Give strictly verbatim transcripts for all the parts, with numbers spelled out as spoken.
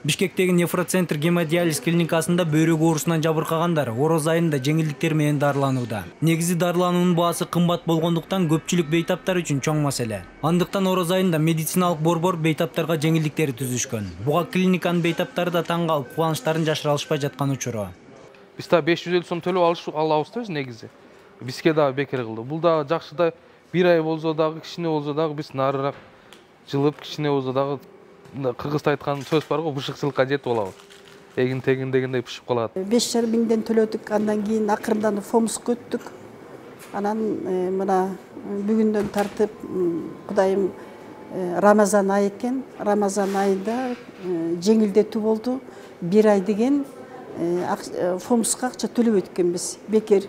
Бишкектеги нефроцентр гемодиализ клиникасында бөйрөк оорусунан жабыркагандар ороз айында жеңилдиктер менен дарыланууда. Негизи дарылануунун баасы кымбат болгондуктан көпчүлүк бейтаптар үчүн чоң маселе. Андыктан ороз айында медициналык борбор бейтаптарга жеңилдиктер түзүшкөн. Буга клиниканын бейтаптары да таң калып, кубанычтарын жашыра алышпай жаткан учуру. Биз да беш жүз элүү сом төлөп алыш алабыз да негизи. Бизге да бекер кылды. Бул да жакшы да бир ай болсо дагы, кичине болсо дагы биз нарыраак жылып, кичине болсо дагы кыргызда айткан сөз барго, бышыкчылыкка жетип алабыз. Эгин тегин дегендей бышып калат. беш жарым миңден төлөдүк, андан кийин акырындан фомско өттүк. Анан мына бүгүндөн тартып Кудайым Рамазан айы экен. Рамазан айында жеңилдетүү болду. бир ай деген фомска акча төлөбөйт экенбиз, бекер.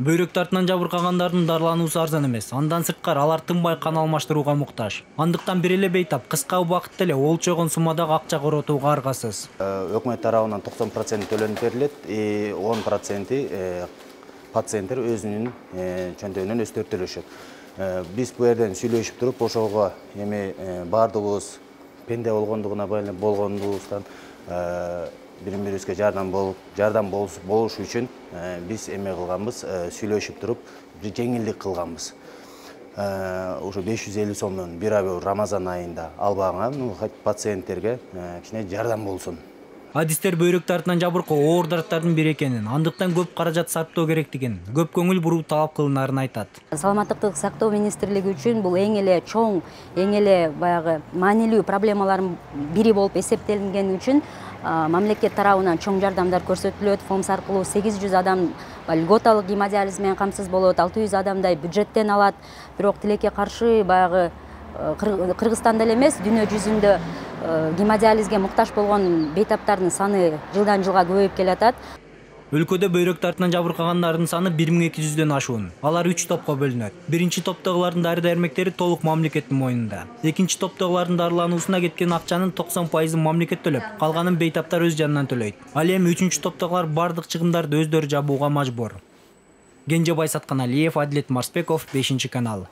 Бөйрөк тартынан жабыркагандардын дарылануусу арзан эмес. Андан сырткары алар тынбай кан алмаштырууга муктаж. Андыктан бир эле бейтап кыска убакытта эле олчогон суммадагы акча коротууга аргасыз. Өкмөт тарабынан токсон процент төлөнүп берилет, он проценти пациенттер өзүнүн чөнтөгүнөн өздөрү төлөшөт. Биз бу жерден сүйлөшүп туруп, ошого эми баардыгыбыз пенде болгондугуна байланып болгондугубуздан бири-бирибизге жардам болуп, жардам болуш үчүн биз эме кылганбыз, сүйлөшүп туруп, бир жеңилдик кылганбыз. Ошо беш жүз элүү сомдон бир ай Рамазан айында албаган пациенттерге кичине жардам болсун. Адистер бөйрөк тартынан жабыркоо оор дарттардын бири экенин, андыктан көп каражат сарптоо керектигин, көп көңүл буруу талап кылынаарын айтат. Саламаттык сактоо министрлиги үчүн бул эң эле чоң, эң эле баягы маанилүү проблемалардын бири болуп эсептелингени үчүн мамлекет тарабынан чоң жардамдар көрсөтүлөт. Фомс аркылуу сегиз жүз адам льготалык гемодиализ менен камсыз болот, алты жүз адамдай бюджеттен алат. Бирок тилекке каршы баягы Кыргызстанда эле эмес, дүйнө жүзүндө гемодиализге муктаж болгон бейтаптардын саны жылдан жылга көбөйүп келатат. Өлкөдө бөйрөк тартынан жабыркагандардын саны бир миң эки жүздөн ашуун. Алар үч топко бөлүнөт. Биринчи топтогулардын дары-дармектери толук мамлекеттин мойнунда. Экинчи топтогулардын дарылануусуна кеткен акчанын токсон пайызын мамлекет төлөп, калганын бейтаптар өз жанынан төлөйт. Ал эми үчүнчү топтогулар бардык чыгымдарды өздөрү жабууга мажбур. Кенжебай Сатканалиев, Адилет Марсбеков, бешинчи канал.